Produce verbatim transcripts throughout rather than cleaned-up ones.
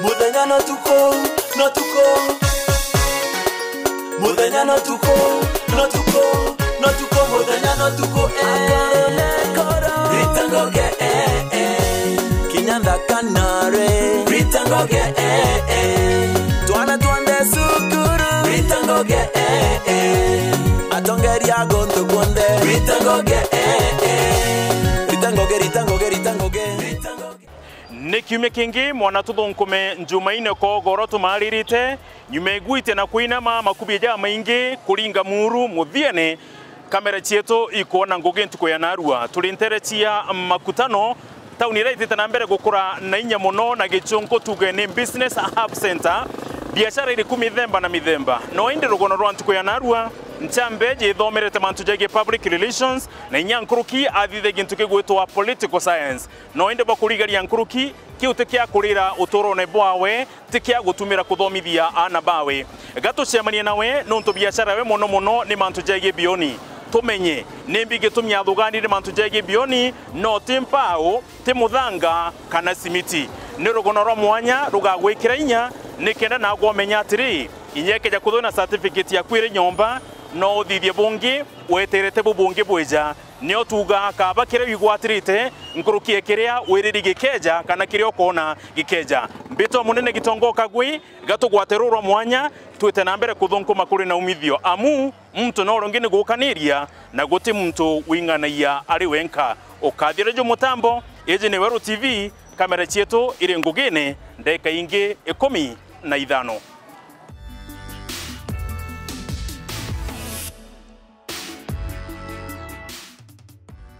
Muthenya no tuku, no tuku. Muthenya no tuku, no tuku, no tuku, muthenya no tuku, eh. Rita Ngugi, eh, eh. Kinya nthaka nare. Rita Ngugi, eh, eh. Twana twa nde cukuru. Rita Ngugi, eh, eh. Atongeria guntu kunthe. Rita Ngugi, eh, eh. Rita Ngugi, Rita Ngugi, Rita Ngugi. Rita Ngugi. Ni kiumia kingi mwana tuthunkume Njumaine kogoro tumaririte, nyuma igwite na kwinama makubi jamaingi kuringa muru muthiene, kamera cietu ikwona ngugi ntuku ya narua. Turi ntere cia Makutano, tauni iria itite na mbere gukura na inya mono na gichunku tuge ni business hub center, biashara iriku mithemba na mithemba. No indi rugono rwa ntuku ya narua, nchambe jithomerete mantu jegie public relations, na inya nkuruki athithe gintu kigwitwa political science. No indi bwa kurigaria nkuruki, kiu ti kia kurira uturone bwawe, ti kia gutumira kuthomithia aana bawe. Ga tucemanie nawe, nontu biashara yawe mono mono ni mantu jegie bioni. Tumenye, nimbi gitumi athuganire mantu jegie bioni, no ti mpau, ti muthanga, kana simiti. Ni rugono rwa mwanya rugagwikira inya, nikenda nagwe umenya atiri, inya ikeja kuthwa na certificate yaku iri nyomba, no uthithie bungi, weterete bu bungi bwija. Nio tuuga, kaba kiria wigwatirite nkuruki ya kiria wiriri gikeja, kana kiria ukoona gikeja. Mbitwa munene Gitonga Kagwi, ga tugwate ruru rwa mwanya, twite na mbere kuthunkuma kuri na umithio, amu muntu no rungi ni gukaniria, na guti muntu wing'anagia ari wenka. Ukathira ju mutambo, iji ni Weru T V, kamera cietu iri ngugine, ndeka ingi ikumi na ithano.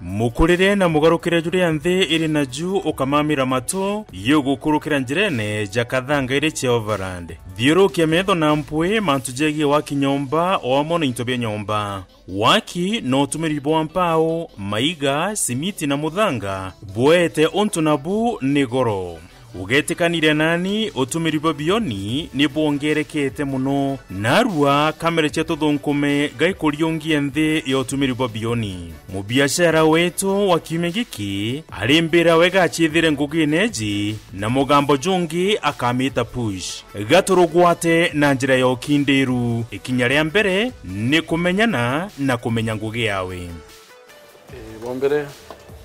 Mukurire na mugarukire juria nthi iri naju ukamamira matu, yugukurukira njirene ja Kathanga iri cia Overland. Thiurukia metho na mpwi mantu jegie waki nyomba o amwe na into bia nyomba. Waki na utumiri bwa mpau, maiga, simiti na muthanga bwete untu nabu ni goro. Ugetikaniria nani, utumiri bwa bioni ni bwongerekete mono. Narua kamera cia tuthunkume gaikuriungia nthi ya utumiri bwa bioni. Mubiashara wetu wa kiumia giki arimbira wega aciithire ngugine iji, na mugambo jungi akamita push. Gaturugwate na njira ya ukindiru. Ikinya ria mbere ni kumenyana na kumenya ngugi yawe. Ii, bwa mbere,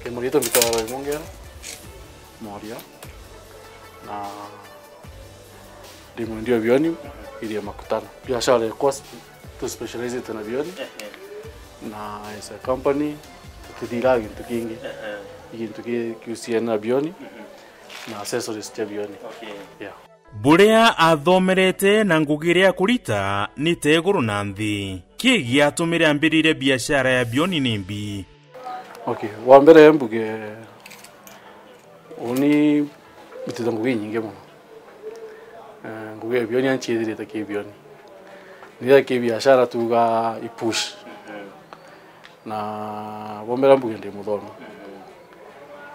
kimaritwa mbitagwa Roy Mongera Moria, na ndi mwendia wa bioni iria Makutano. Biashara yakwa s-, tu specializite na bioni, na as a company, tutithiraga gintu kingi. Gintu ki-, kiusiana na bioni, na accessories cia bioni. Yeah. Buria athomerete na ngugi iria akurita ni ta iguru na nthi. Ki giatumire ambiririe biashara ya bioni nimbi? Okay, wa mbere mbuge, uni mbitite ngugi inyingi mono. Eh, ngugi ya bioni anciithirite ki bioni. Ni ya ki biashara tuga i push. Na bwa mbere mbuge ndi muthomi.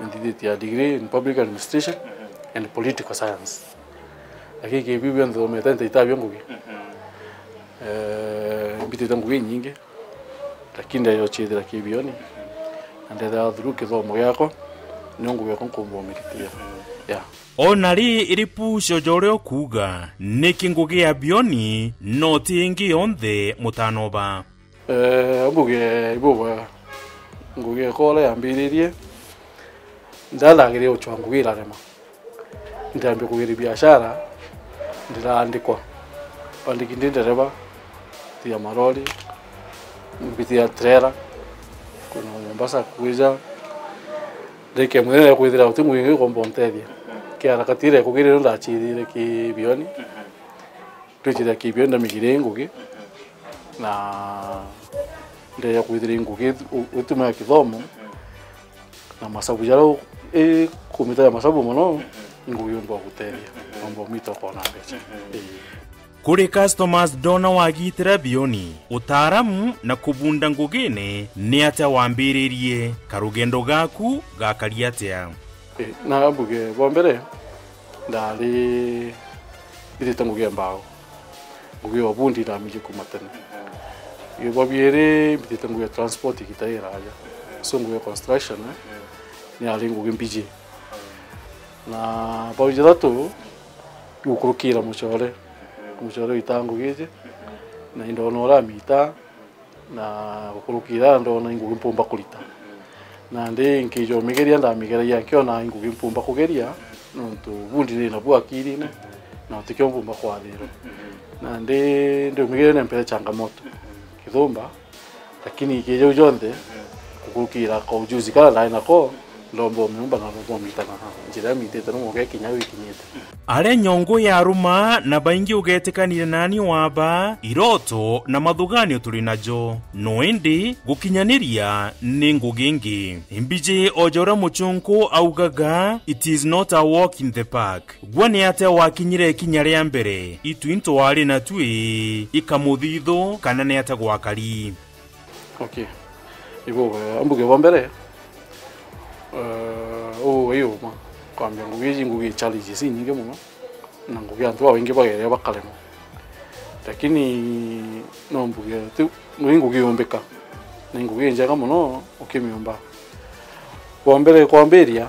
Nthithitie a degree in public administration and political science. Lakini ki biu bionthe nthomete ntaita bio ngugi. Eh, mbitite ngugi inyingi. Lakini ndeyo ciithira ki bioni. Na ndethira through kithomo giakwa, nio ngugi yakwa nkumba umiritia. Yeah. Ona ri iri push o ja uria ukuuga, niki ngugi ya bioni no ti ingi yonthe mutanoba? Eh, mbuge ibubwega. Ngugi yakwa uria yambiririe, ndathagirie gucwa ngugi irarema. Ndambia kugeria biashara, ndiraandikwa. Bandiki ndi ndereba, tia marori, mbitia trailer, kuna Mombasa kwija. Ndeke mwene kwithira uti ngugi ingi ukomba untethia. Kia harakati iria kugeria ndachiithire ki bioni. Twitire ki bioni ndamigire ngugi. Na ndeya kwithira ngugi u-, utumira kithomo. Na masabu jaria u-, i kumita ya masabu mono, ni ngugi umba gutethia. Umba umita ukona mbeca. Ii. Kuri customers ndona wagitira bioni, utaaramu na kubunda ngugine ni atia wambiririe? Karugendo gaku gakari atia? Ii, na mbuge bwa mbere, ndari mbitite ngugi ya mbao. Ngugi ya ubundi ndamirie kuma tene. Ii, bwa biiri, mbitite ngugi ya transport igita iraja. So ngugi ya construction, eh, ni yari ngugi mbiji. Na bau jathatu, Gukurukira mucore, mucore wita ngugi iji, na indona uramita, na gukurukira ndona ingugi mpumba kurita. Nandi nkijomigeria, ndamigeragia nkiona ingugi mpumba kugeria, nontu bundi ndi nabu akirine, na utikio mpumba kwathirwa. Nandi ndiumigeria nempere changamoto kithumba, lakini kija u jonthe, gukurukira ka ujuzi kara ndai nako, ndomba umiumba na ndomba umita na njira imitite no mwanka ikinya au ikinyite. Aria nyongo ya ruma na baingi ugetikanire nani waba, iroto na mathuganio turi najo. No indi gukinyaniria ni ngugi ingi. Imbiji o ja uria muchunku augaga, "It is not a walk in the park." Gwe ni atia wakinyire ikinya ria mbere? Itu into wari na tui ikamuthithu kana ni atia gwakari? Okay. Ibo, eh, ambuge bwa mbere, eh, uu gai uma. Kwambia ngugi iji, ngugi challenges inyingi muno, na ngugi antu babaingi bageria bakaremwa. Lakini no mbuge tu, ni ngugi yumbika. Ni ngugi injega muno ukimiumba. Bwa mbere kwambiria,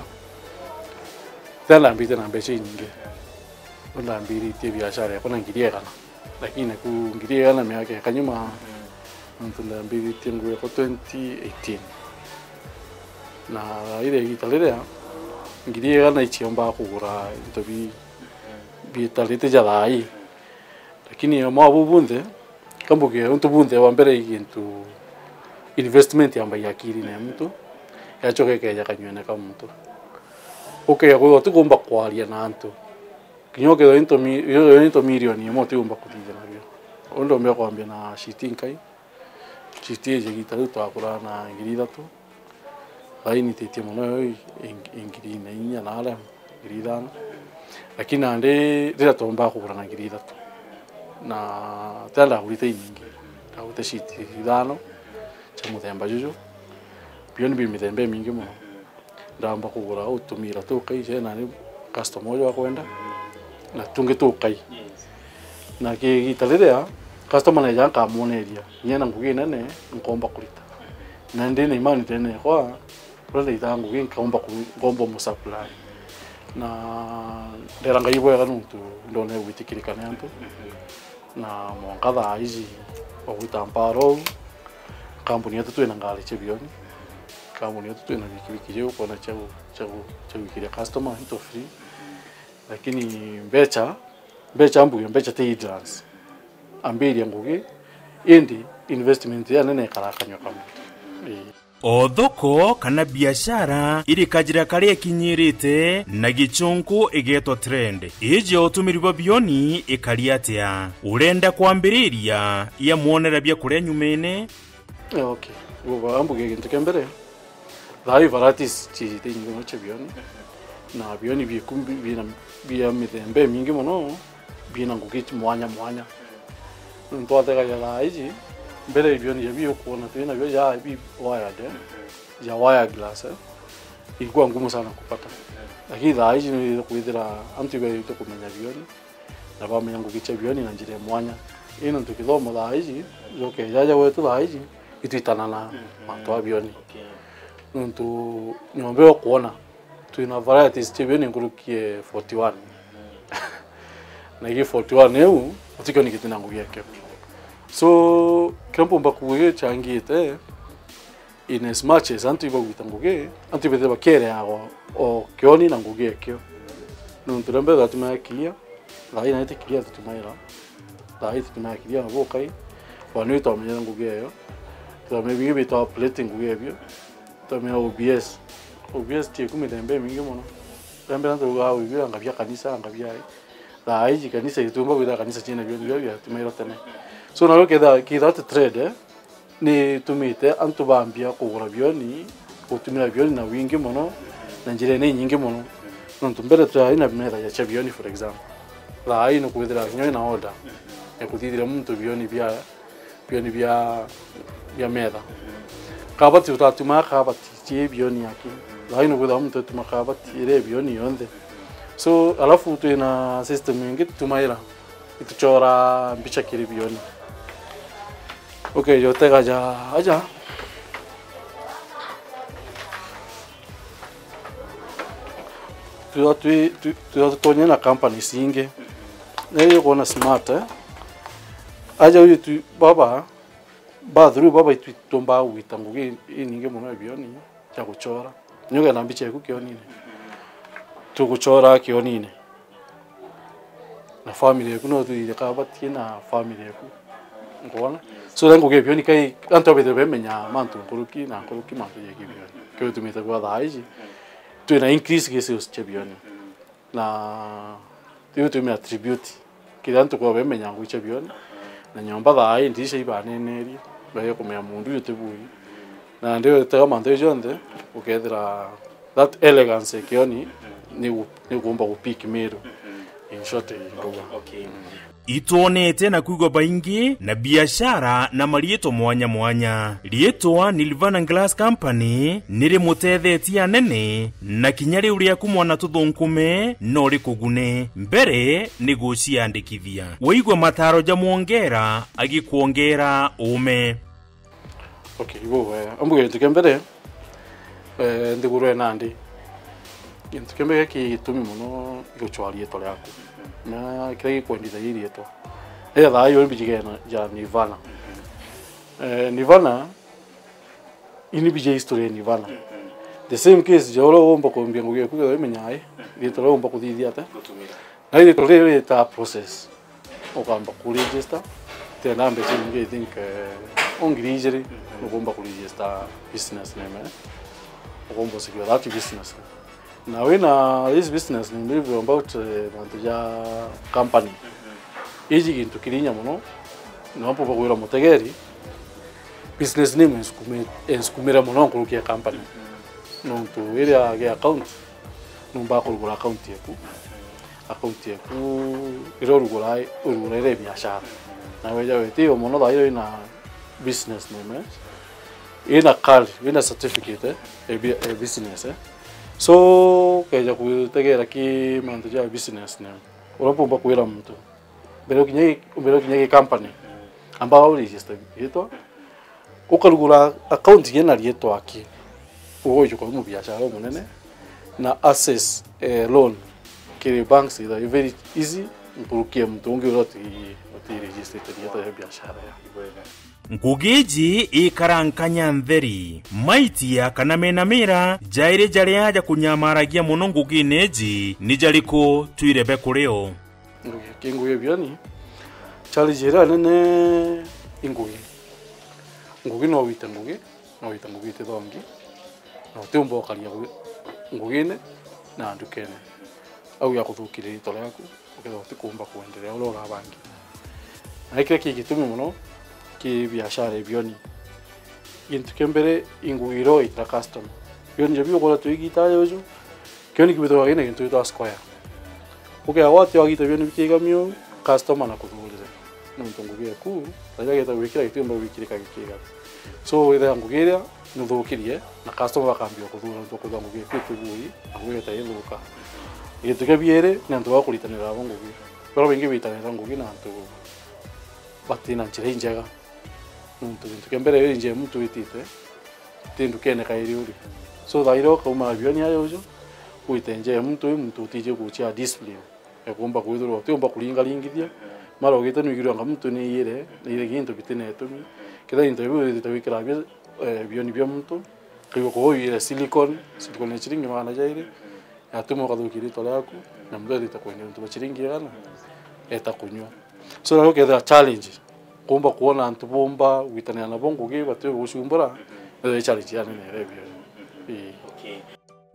tena ndambite na mbeca inyingi. Ndambiritie biashara yakwa na ngiri igana. Lakini ku ngiri igana miaka ya kanyuma, nontu ndambiritie ngugi yakwa twenty eighteen. Na ire igita riria, ngiri igana iciombaga kugura into bi-, bitarite ja thaa ii. Lakini mwa buu bunthe, kambuge untu bunthe bwa mbere i gintu, investment yambagia akirine ya muntu, yachoka ikeja kanywene ka muntu. Ukethirwa utikumba kwaria na antu. Kinya ukethirwa into mi-, yo, yo into milioni imwe utiumba kuthithia nabio. Uu ndombe kwambia na shiti nkai. Shiti iji igita riu twagura na ngiri ithatu. Thaa ii nititie mono yo i, i, i ngiri na inya na aria, ngiri ithano. Lakini nandi riria twombaga kugura na ngiri ithatu, na tira ndagurite inyingi, ndagurite shiti ithano cia muthemba juju. Bioni bi mithemba imingi mono. Ndamba kugura utumira tukai, cena ni customer uju akwenda, na tungi tukai. Na ki-, igita riria customer neja nkamwoneria, nyena ngugi nene nkomba kurita. Na ndi na imani tene yakwa, uria ndaitaga ngugi nkomba ku-, nkomba umusupply. Na ndera Ngai bwega nontu ndona gwitikirika ni antu. Na mwanka thaa iji, ogwita mpara uu, kambuni yetu twina ngari cia bioni, kambuni yetu twina bikibiki cia gukona cia gu-, cia gu-, cia gwikiria customer into free. Lakini mbeca, mbeca mbuge, mbeca ti hindrance. Ambiria ngugi, indi investment ya nene ikarakanywa kamwe. Ii. O thoko kana biashara iri kajira karia ikinyirite na gichunku igetwa trend. Iji utumiri bwa bioni ikari atia? Urenda kwambiriria ya mwonera bia kuria nyumene? Eh, okay. Uga ambuge gintu kia mbere. Thaa ii varieties ciijite inyingi mono cia bioni. Na bioni biku-, bi-, bina, bia mithemba imingi mono. Bina ngugi mwanya mwanya. Nontu twategagia thaa iji, mbere ibioni ja biu ukwona twina bio ja bi wired, eh, ja wire glass, eh, ilikuwa ngumu sana kupata. Lakini thaa iji ni kwithira antu ibaite kumenya bioni, na bamenya ngugi cia bioni na njira ya mwanya. Ii nontu kithomo thaa iji, joke jaja gwetu thaa iji, itwitana na mantu a bioni. Okay. Nontu nyomba ukwona, twina varieties cia bioni nkuruki ya forty one. Na ingi forty one iu, utikio ni giti na ngugi yakio. So, kiria mpumba kuuga gicangite, in as much as antu ibagwita ngugi, antu ibethire bakiereagwa o kioni na ngugi yakio. Nontu ria mbere twatumaga kiria, thaa ii nayo ti kiria tutumaira. Thaa ii tutumaga kiria na bukai. Kwani twamenyera ngugi eyo. Twamenya bingi bitwa plating ngugi ebio. Twamenya O B S. O B S ti iku mithemba imingi mono. Ria mbere antu baugaga wibira anga bia kanisa, anga bia ii. Thaa iji kanisa itiumba kwithira kanisa ciina bio, bio biatumairwa tene. So, nario kethira, kethira ti trade, eh, ni itumite antu bambia kugura bioni, gutumira bioni na wingi mono, na njira ni nyingi mono. Nontu mbere twari na metha ya cia bioni, for example. Thaa ii ni kwithira kinya wina order ya kuthithira muntu bioni bia bioni bia, bia metha. Kabati utatumaga kabati cie bioni yake. Thaa ino kwithirwa muntu atuma kabati iria bioni yonthe. So, alafu twina system ingi tutumaira, ituchora mbicha kiri bioni. Okay, jotega ja aja. Twithirwa twi-, twi-, twithirwa tutonye na companies ingi. Nari ukwona smart, eh? Aja uyu tu baba, ba through baba itwi tumba gwita ngugi inyingi mono ya bioni ya guchora. Nyoge na mbicha eku kionine. Tuguchora kionine. Na family eku no tuire ka batie na family eku. Ngona. So then ngugi bioni kai antu abithe bemenya mantu nkuruki na nkuruki mantu ya kibioni. Kio tumite kwa thaa iji. Twina increase cases cha bioni. Na riu tume attribute kiri antu kwa bemenya ngugi cha bioni. Na nyomba thaa ii ndirisha ibanenerie, baye kumenya mundu uyu ti bui. Na ndio tega mantu jonthe ukethira that elegance kioni ni gu- ni kuumba gu pick miru. In short, ndauga. Okay. Itwonete na kwigua baingi na biashara na mariitwa mwanya mwanya. Riitwa Nirvana Glass Company ni rimutethetie anene, na kinya riu riaku mwana tuthunkume no rikugune. Mbere ni guciandikithia. Waigua mataro ja mwongera agikwongera uume. Okay, ibo wega. Ambuge gintu kia mbere, eh, nthiguru e nandi. Gintu kia mbere ki gitumi mono iguchwa riitwa riaku. Na kiria gikwendithagia iriitwa. Ira thaa iyo mbiji gena ja Nirvana. Eh, Nirvana, ini mbiji history ya Nirvana. The same case, ja uria uumba kumbia ngugi eku, kethira imenyae, riitwa riria uumba kuthithia ate. Na iriitwa riri rita process. Ukamba ku register. Tena mbeca nyingi, I think, eh, o ngiri ijiri, nukumba ku register business name, eh. Ukumba usikiwa that business name. Na wina this business name, maybe about, eh, mantu ja company. Iji gintu kirinya mono, na mpumba kwira mutegeri, business name ensukume-, ensukumire mono nkuruki ya company. Nontu iria gi account, numba kurugura account yaku. Account yaku iria urugura, urugura iri biashara. Na weja wetio mono thaa iyo ina business name, eh? Ina card, ina certificate, eh, ya bi-, ya business, eh? So, keja kutegera ki mantu ja business name. Uria mpumba kwira muntu. Mbere ukinya gi-, mbere ukinya gi company. Amba u register gitwa. Ukarugura account ina riitwa aki. Ugoijuka wi mubiashara umunene. Na access, eh, loan kiri banks is very easy. Nkuruki ya muntu ungi uria uti, uti registered riitwa ya biashara ya. Ngugi iji ikara nkanya ntheri. Maitia kana mena mira jairi jaria jakunyamaragia mono ngugine iji ni jariku twirebe kuri o? Ngugi, ki ngugi bioni. Challenge iria nene i ngugi. Ngugi no wite ngugi, no wite ngugi itithongi, na utiumba ukaria ngugi, ngugine na ndukene. Au ya kuthukiria riitwa riaku, ukethirwa utikumba kwenderea uria urabangire. Na kiria ki gitumi mono ki biashara ya bioni. Gintu kia mbere, i ngugi iria uitira customer. Bioni ja biu ukwona twigita aja uju, kioni kibithagwa kina gintu gitwa square. Ukea gwati wagita bioni bikigamio, customer na kuthurire. Nontu ngugi eku, tharia ageta gwikira gitiumba gwikirika gikigati. So, withira ngugi iria nuthukirie, na customer bakambia kuthura nontu ukwithwa ngugi eku itibui, na ngugi eta ithuka. Gintu kia biiri, ni antu ba kuritanira abo ngugi. Baria baingi bitanira ngugi na antu batina njira injega. Nontu gintu kia mbere, iyo injia muntu witite, ti ndukene kairi uri. So, thaira ukauma na bioni aja uju, wite nja ya muntu, wi muntu utiji guchia discipline. Ekumba kwithirwa utiumba kuringaringithia, mara ugite nwigirwe anga muntu ni iyire, ni iyire gintu bitina itumi. Kethira into biu withite wikira bia, eh, bioni bia muntu, kaigua kwa uyire silicone, silicone ya chiringi magana jairi, yatuma ukathukia riitwa riaku, na muntu ethite kwendia untu bwa chiringi igana, eta kunyua. So, nayo kethira challenge, kumba kwona antu bumba gwitanira nabo ngugi, bati gucumbura, ethira challenge ya nene iria bioni. Ii. Okay.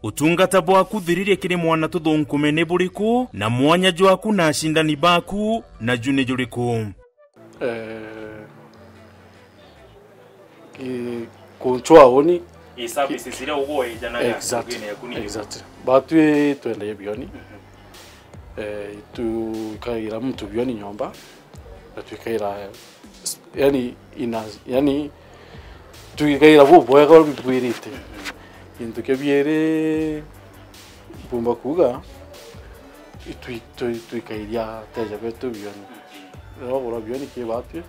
Utungata bwaku thiririe kiri mwana tuthunkume ni buriku, na mwanya jwaku na acindani baku naju ni juriku? Eh, ki-, kunchwa uni. I services iria uguo ijanaga exactly, ngugine yaku ni iriku? Exactly. Batwi twendagia bioni. Mhm. Eh, twikaira muntu bioni nyomba, na twikaira, yani, ina, yani, twikaira bubwega bwirite. Gintu kia biiri, mpumba kuuga, itwi-, twi-, twikairia ateja betu bioni. Riria wagura bioni ki batwi,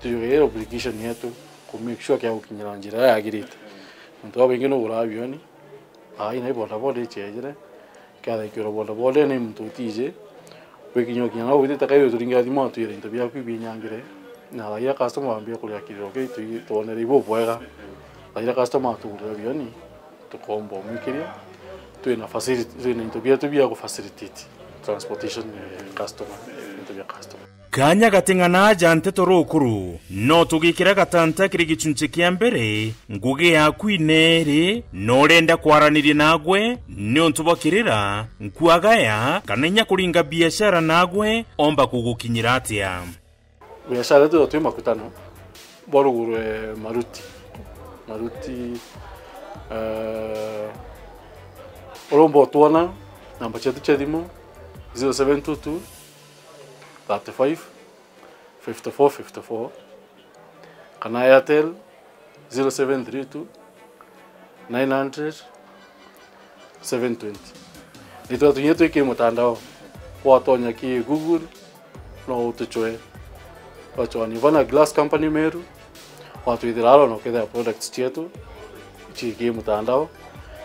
twikaira obligation yetu ku make sure kia gukinyira njira iria yagirite. Nontu babaingi nuguraa bioni, ai, nai bodaboda ichejire, kiathaikirwa bodaboda ni muntu utiji, Gwikinya ukinya no witite kai uturingira thimu atwire into biaku ibinyangire, na thaira customer wambia kuria kiriro kiu twi-, twonere ibu bwega. Thaira customer atugurira bioni, tukomba umwikiria, twina facility, twina into bietu bia ku facilitate transportation ya customer, into bia customer. Kanya gating'ana aja nteto rukuru, no tugikira gatanta kiri gichunchi kia mbere, ngugi yaku ineeri, no urenda kwaraniria nagwe, niuntu bwa kirira, nkuagaya, kana inya kuringa biashara nagwe, omba kugukinyira atia? Biashara yetu twi makutano, bwa ruguru, eh, Maruti. Maruti, eh, urumba utwona, namba cietu cia thimu, zero seven two two, thirty-five, fifty-four fifty-four, kana Airtel zero seven three two nine hundred seven twenty. Nitwa tunye twi ki mutandao, watonya ki Google, no utuchwe. Wachwani vana Glass Company Meru, watwithira aro no kethira products cietu ci ki mutandao,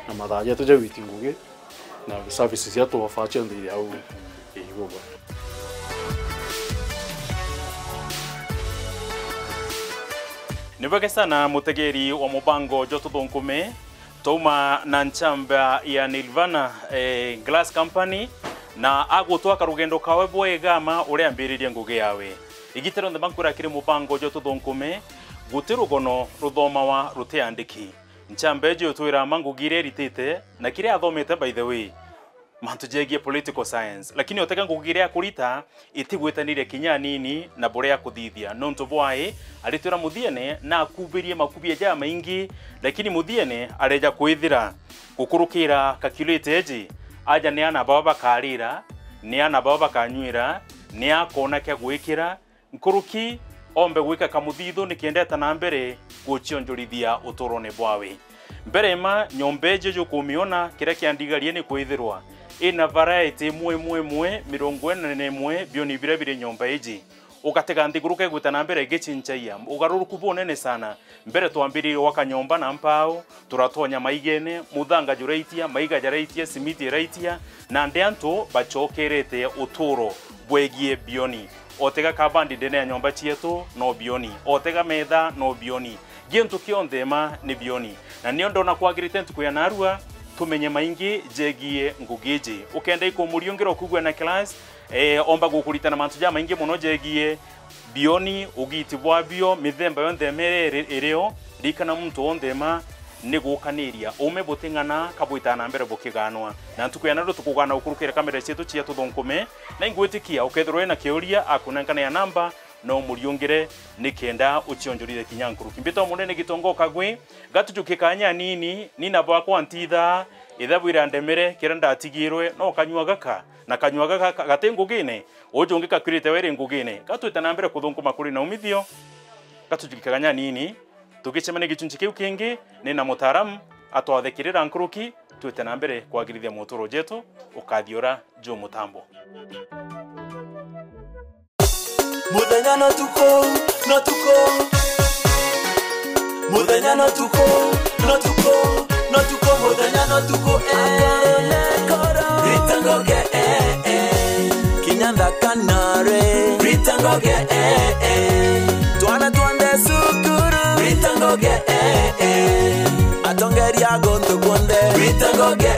na mathaa jetu ja witi ngugi. Na services cia tuofa cionthe iri au iguru. Ni bwega sana mutegeri wa mubango jwa Tuthunkume, twauma na nchamba ya Nirvana, eh, Glass Company, na agutwaka rugendo kawe bwega ma uria ambiririe ngugi yawe. Igita rionthe bankwira kiri mubango jwa Tuthunkume, guti rugono ruthomawa rutiandiki. Nchamba iji utwira ma ngugi iria iritite na kiria athomete, by the way. Mantu jegie political science, lakini otega ngugi iria akurita itigwitanirie kinya anini na buria akuthithia. Nontu bwai, aritwira muthiene na akubirie makubia jamaingi, lakini muthiene areja kwithira gukurukira calculator iji, aja ni ana bao bakarira, ni ana bao bakanyuira, ni akona kia gwikira, nkuruki ombe gwika kamuthithu nikenda eta na mbere gucionjorithia uturone bwawe. Mbere ma nyomba iji jukumiona, kiria kiandigarie ni kwithirwa ina variety imwe imwe imwe, mirongo ina na imwe bioni biria biri nyomba iji. Ugatega nthiguru kegwita na mbere igichinchagia, ugaruruku bunene sana. Mbere twambiririe gwaka nyomba na mpau, turatonya maigene, muthanga juraitia, maiga jaraitia, simiti iraitia, na ndi antu bacokerete uturo bwegie bioni. Otega kabandi ndene ya nyomba cietu, no bioni. Otega metha, no bioni. Gintu kionthe ma ni bioni. Na nio ndona kwagirite ntuku ya narua, tumenye maingi jegie ngugi iji. Ukenda ikumuriungira ukugua na class, eh, omba gukuritana mantu jamaingi mono jegie bioni, ugiti bwabio, mithemba yonthe mere iri-, irio, ririkana muntu wonthe ma ni gukaniria. Ume buting'ana kabwitaa na mbere bukiganwa. Na ntuku ya narua tukugana gukurukira kamera cietu cia Tuthunkume, na ingwitikia ukethirwa wina kiuria akunenkane ya namba, no umuriungire nikenda ucionjorithie kinya nkuruki. Mbitwa Munene Gitongo Kagwe, gatujukie kanya anini, ni na bwakwa ntithaa, ithabu irandemere, kiria ndatigirwe, no kanyua gaka, na kanyua gaka ka-, gati ngugine, uju ungi kakwirite weri ngugine. Gatwite na mbere kuthunkuma kuri na umithio, gatujukie kanya anini, tugicemania gichunchi kiu kingi, ni na mutaaramu atwathikirira nkuruki, twite na mbere kwagirithia muturo jetu, ukathiura ju mutambo. Muthenya na tuku, na tuku. Muthenya na tuku, na tuku, na tuku, muthenya na tuku, eh. Akoro na akoro. Rita ngoge, eh, eh. Kinya nthaka nare. Rita ngoge, eh, eh. Twana twonthe cukuru. Rita ngoge, eh, eh. Atongeria guntu kwonthe. Rita ngoge,